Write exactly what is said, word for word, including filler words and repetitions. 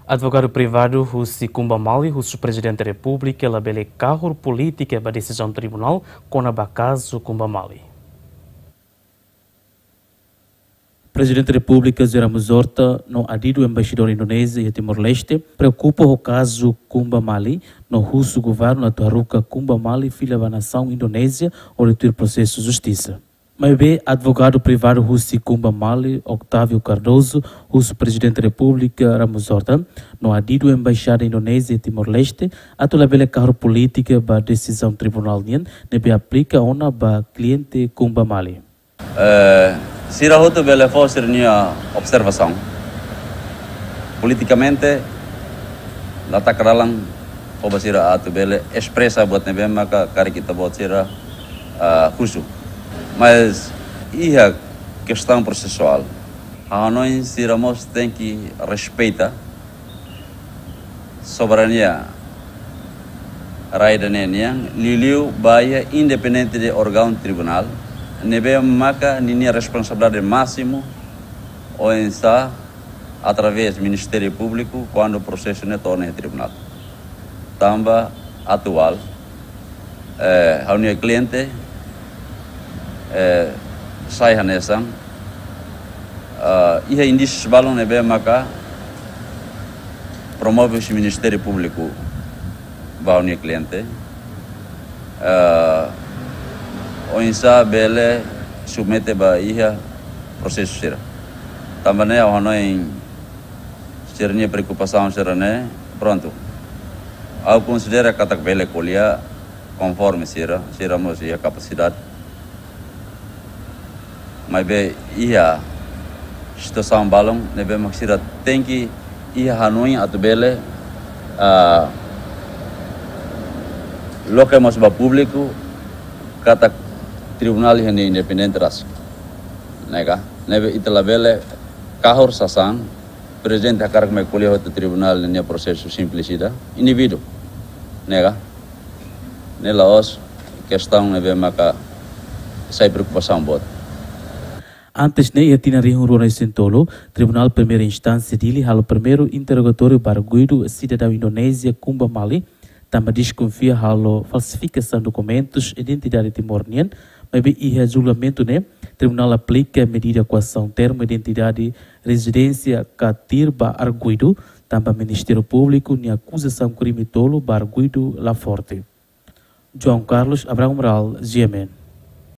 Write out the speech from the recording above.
Advogadu privadu husi Kumba Mali husu Prezidente Repúblika labele kahur polítika ba desizaun tribunál kona-ba kazu Kumba Mali. Prezidente Repúblika José Ramos Horta no adidu embaixadór Indonézia iha Timor-Leste preokupa ho kazu Kumba Mali no husu governu atu haruka Kumba Mali fila ba nasaun Indonézia hodi tuir prosesu justisa. Maibé advogadu privadu husi Kumba Mali, Octávio Cardoso, husu Prezidente Repúblika Ramos Horta no adidu embaixada Indonézia Timor-Leste atu labele kahur polítika ba desizaun tribunál nian ne'ebé aplika ona ba kliente Kumba Mali. Eh, sira hotu bele fó sira-nia observasaun. Politikamente, la taka dalan fó ba sira atu bele espresa buat ne'ebé maka karik ita-boot sira, ah, husu. Mas iha kestaun prosesuál, ha'u hanoin sira mós tenke respeita soberania rai ida-ne'e nian, liuliu ba iha independente de órgaun tribunál, ne'ebé maka ninia responsabilidade másimu oinsá através Ministériu Públiku kuandu prosesu ne'e to'o ona iha tribunál. Tanba atuál, eh, ha'u-nia kliente, eh, sai hanesan, ah, iha indísius balun ne'ebé maka promove husi Ministériu Públiku ba ha'u-nia kliente, ah, oinsá bele submete ba iha prosesu sira. Tanba ne'e ha'u hanoin sira-nia preokupasaun sira-ne'e, prontu. Ha'u konsidera katak bele ko'alia konforme sira, sira mós iha kapasidade. Maibé iha situasaun balun ne'ebé mak sira tenke iha hanoin atu bele, ah, loke mós ba públiku katak tribunál iha nia independente rasik. Ne'e ka? Ne'ebé ita labele kahur sasán, prezidente hakarak mai ko'alia hotu tribunál ninia prosesu simples ida, indivíduu. Ne'e ka? Ne'e la'ós kestaun ne'ebé maka sai preokupasaun boot. Antes ne'e, iha tinan rihun rua resin tolu, Tribunál Primeira Instánsia Dili halo primeiru interrogatóriu ba arguidu sidadaun Indonézia Kumba Mali, tanba deskonfia halo falsifikasaun dokumentus identidade Timor nian, maibé iha julgamentu ne'e, tribunál aplika medida koasaun termu identidade rezidénsia katir ba arguidu, tanba Ministériu Públiku nia akuzasaun krime tolu ba arguidu la forte. João Carlos Abrão Amaral, G M N.